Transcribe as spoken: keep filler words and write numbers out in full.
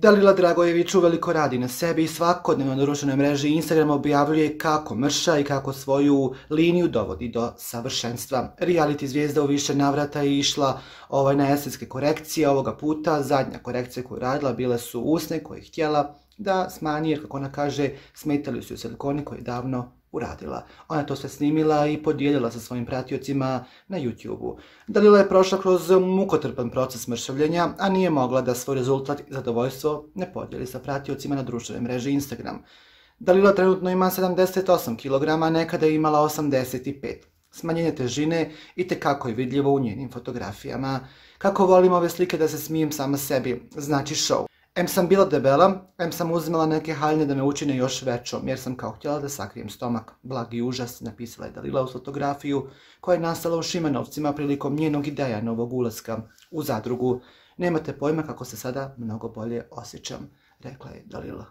Dalila Dragojević uveliko radi na sebi i svakodnevno na društvenoj mreži Instagram objavljuje kako mrša i kako svoju liniju dovodi do savršenstva. Reality zvijezda u više navrata je išla ovaj, na estetske korekcije. Ovoga puta zadnja korekcija koju radila bile su usne koje je htjela da smanji, jer kako ona kaže, smetali su joj silikoni koje je davno uradila. Ona to sve snimila i podijelila sa svojim pratiocima na YouTube-u. Dalila je prošla kroz mukotrpan proces mršavljenja, a nije mogla da svoj rezultat i zadovoljstvo ne podijeli sa pratiocima na društvenoj mreži Instagram. Dalila trenutno ima sedamdeset osam kilograma, nekada je imala osamdeset pet. Smanjenje težine itekako je vidljivo u njenim fotografijama. Kako volim ove slike da se smijem sama sebi, znači show. Em sam bila debela, em sam uzimala neke haljne da me učine još većom, jer sam kao htjela da sakrijem stomak. Blagi užas, napisala je Dalila uz fotografiju koja je nastala u Šimanovcima prilikom njenog ideja novog ulaska u zadrugu. Nemate pojma kako se sada mnogo bolje osjećam, rekla je Dalila.